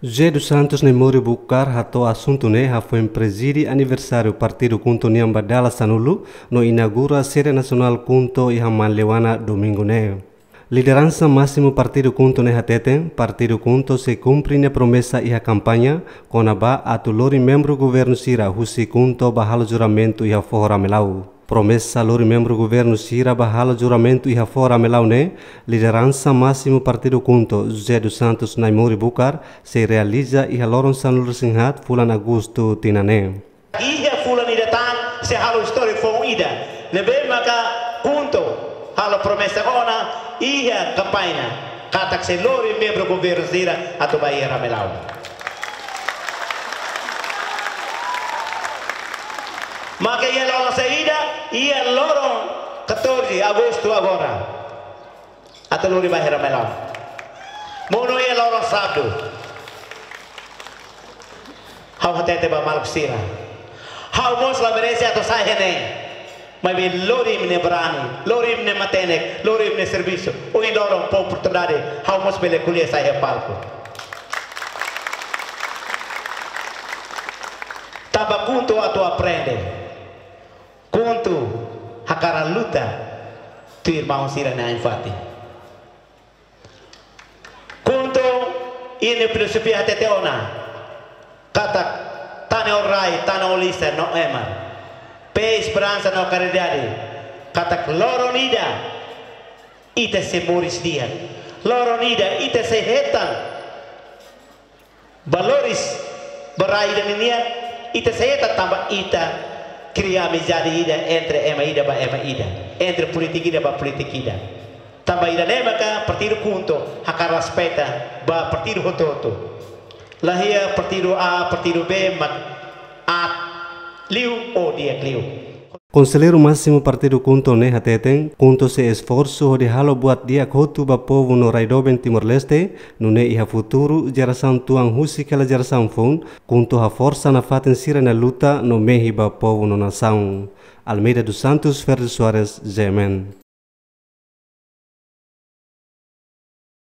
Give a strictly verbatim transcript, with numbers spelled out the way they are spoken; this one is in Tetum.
José dos Santos Naimori Bucar hato'o asuntu ne'e hafoin prezide aniversáriu partidu KHUNTO nian ba dala sanulu no inaugura sede nasionál KHUNTO iha Manleuana domingu ne'e. Lideransa másimu partidu KHUNTO ne'e hateten, partidu KHUNTO sei kumpre nia promesa iha kampaña kona-ba atu lori membru governu sira husi KHUNTO ba halo juramentu iha foho Ramelau. Promesa lori membru governu sira ba halo juramentu iha foho Ramelau ne'e, lideransa másimu partidu KHUNTO, José dos Santos Naimori Bucar, sei realiza iha loron sanulu-resin-haat fulan Agostu tinan ne'e. Iha fulan ida tan sei halo istória foun ida. Ne'ebé maka KHUNTO halo promesa ona iha kampaña katak sei lori membru governu sira atu ba iha Ramelau. Maka iha loron saida, iha loron catorze Agostu agora. Atu lori ba iha Ramelau. Monu iha loron Sábadu. Ha'u hatete ba maluk sira. Ha'u mós la merese atu sa'e iha ne'e. Maibé lori imi-nia brani, lori imi-nia matenek, lori imi-nia servisu. Ohin loron fó oportunidade, ha'u mós bele ko'alia sa'e iha palku. Tanba KHUNTO atu aprende. KHUNTO hakarak luta tuir irmaun sira-nia ain-fatin. KHUNTO iha nia filozofia hatete ona katak tane ho rai, tane ho lisan no ema. Fé, esperansa no karidade. Katak loron ida ita sei moris di'ak. Loron ida ita sei hetan valores ba rai ida ninian, ita sei hetan tanba ita kria amizade ida entre ema ida ba ema ida, entre polítiku ida ba polítiku ida. Tanba ida-ne'e maka partidu KHUNTO hakarak respeita ba partidu hotu-hotu. La iha partidu A, partidu B, mak aat liu ou di'ak liu. Konselleiru másimu partidu KHUNTO ne'e hateten, KHUNTO sei esforsu hodi halo buat di'ak hotu ba povu no rai doben Timor-Leste, nune'e iha futuru, jerasaun tuan husik hela jerasaun foun, KHUNTO haforsa nafatin sira-nia luta no mehi ba povu no nasaun. Almeida dos Santos, Ferdi Soares, G M N.